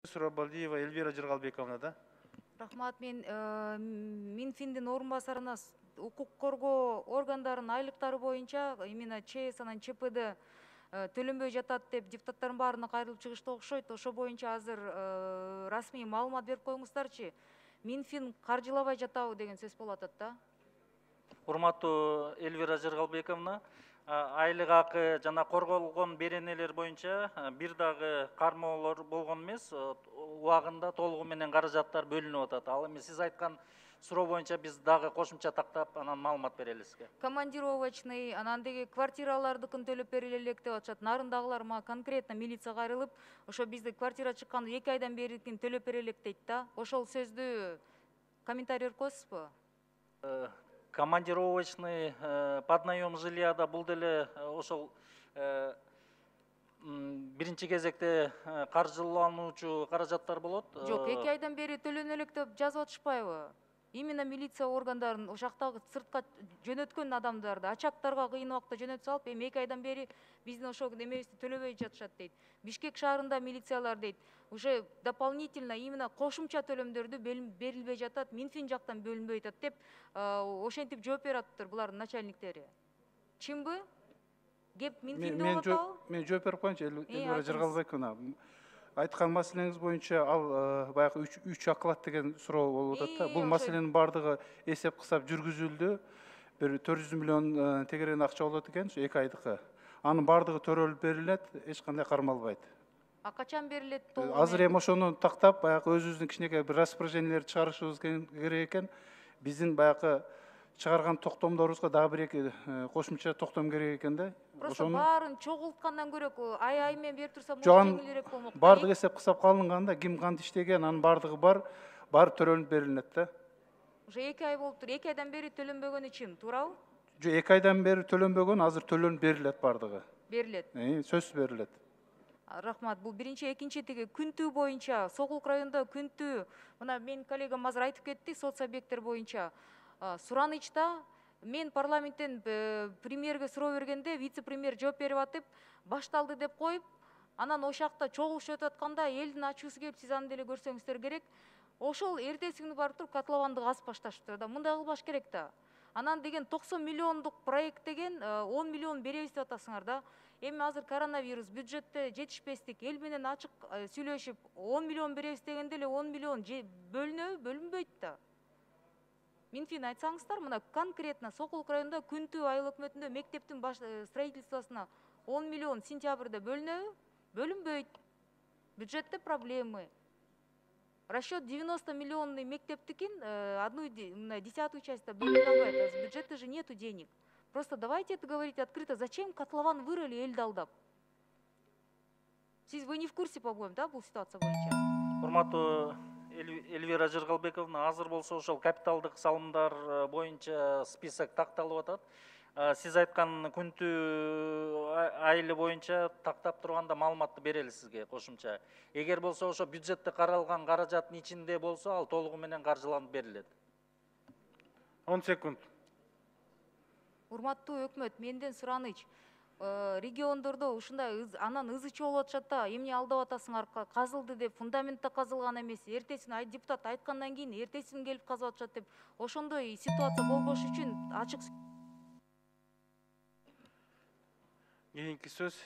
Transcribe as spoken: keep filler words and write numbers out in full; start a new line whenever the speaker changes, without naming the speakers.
Сурабалдиева Эльвира Жыргалбековна, да?
Рахмат, мен Минфиндин орун басарына укук коргоо органдарынын айлыктары боюнча именно ЧС анан ЧПД төлөнбөй жатат деп депутаттардын баарына кайрылып чыгышты окшойт. Ошо боюнча азыр расмий маалымат берип коюңуздарчы. Минфин каржылабай жатабы деген сөз болуп атат да.
Урматтуу Эльвира Жыргалбековна, айлык акы жана корголгон беренелер боюнча бир дагы кармоолор болгон эмес, убагында толугу менен каражаттар бөлүнүп атат. Ал эми сиз айткан суроо боюнча биз дагы кошумча тактап анан маалымат берели сизге.
Командировочный, анан деги квартиралардыкын төлөп берели элек деп атышат. Нарындагылар мага конкретно милиция кайрылып, ошо бизде квартира чыкканда эки айдан берикин төлөп берелек дейт да. Ошол сөздү комментарий берип коесузбу?
Командировочный под наем жильяда бул деле ошол биринчи кезекте каржылануучу каражаттар болот.
Жок, эки айдан бери төлөнө элек деп жазып атышпайбы? Именно милиция органдарын ошактагы сыртка жөнөткөн адамдарды ачактарга кыйын убакта жөнөтүп салып, эми эки айдан бери биздин ошол немебизди төлөбөй жатышат дейт. Бишкек шаарында милициялар дейт, уже дополнительно именно кошумча төлөмдөрдү берилбей жатат, Минфин жактан бөлүнбөй жатат деп ошентип жооп берип атыптыр булардын начальниктери. Чынбы? Кеп Минфинде болуп атабы?
Мен жооп берип коеюнчу, Эльвира Жыргалбековна. Айткан маселеңиз боюнча ал баягы үч оклад деген суроо болуп атат да. Бул маселенин баардыгы эсеп кысап жүргүзүлдү. Бир төрт жүз миллион тегерен акча болот экен, эки айдыкы. Анын баардыгы төрөлүп берилет, эч кандай кармалбайт.
А качан берилет?
Азыр эми ошону тактап, баягы өзүбүздүн кичинекей бир распоряжениелерди чыгарышыбыз керек экен. Биздин баягы чыгарган токтомдорубузга дагы бир эки кошумча токтом керек экен да.
Просто баарын чогулткандан көрөк ай ай менен берип турса
жеңилирээк болмок. Баардыгы эсеп кысап калынганда, ким кантип иштеген, анын баардыгы бар, бар төрөлүп берилет да.
Уже эки ай болуптур, эки айдан бери төлөнбөгөнү чын, туурабы?
Жок, эки айдан бери төлөнбөгөн, азыр төлөнүп берилет баардыгы.
Берилет.
Сөзсүз берилет.
Рахмат. Бул биринчи, экинчи теги күнтүү боюнча, Сокулук районунда күнтүү, мына менин коллегам азыр айтып кетти, соц объекттер боюнча суранычта мен парламенттен премьерге суроо бергенде вице-премьер жооп берип атып, башталды деп коюп, анан ошакта чогулуш өтүп атканда элдин ачуусу келип, сиз аны деле көрсөңүздөр керек. Ошол эртеси күнү барып туруп котлованды казып башташыптыр да. Мындай кылбаш керек да. Анан деген токсон миллиондук проект деген он миллион беребиз деп атасыңар да. Эми азыр коронавирус, бюджетте жетишпестик, эл менен ачык сүйлөшүп, он миллион беребиз дегенде эле он миллион бөлүнөбү, бөлүнбөйт да. Минфин айтсаңыздар, мына конкретно Сокулук районунда күнтүү айыл өкмөтүндө мектептин строительствосуна он миллион сентябрда бөлүнөбү, бөлүнбөйт. Бюджетте проблемы. Расчет девяносто миллионный мектептикин одну десятую часть бөлүнө албайт. В бюджете же нету денег. Просто давайте это говорить открыто. Зачем котлован вырыли элди алдап? Сиз вы не в курсе, по-моему, да, бул ситуация боюнча?
Урматтуу Эльвира Жыргалбековна, азыр болсо ошол капиталдык салымдар боюнча список такталып атат. Сиз айткан күнтүү айылы боюнча тактап турганда маалыматты берели сизге кошумча. Эгер болсо ошо бюджетте каралган каражаттын ичинде болсо, ал толугу менен каржыланып берилет.
он секунд.
Урматтуу өкмөт, менден сураныч. Региондордо ушундай анан ызычы болуп атышат да, эмне алдап атасыңар, казылды деп, фундаментте казылган эмес, эртесин депутат айткандан кийин эртесин келип казып атышат деп, ошондой ситуация болбош үчүн ачык.
Кийинки сөз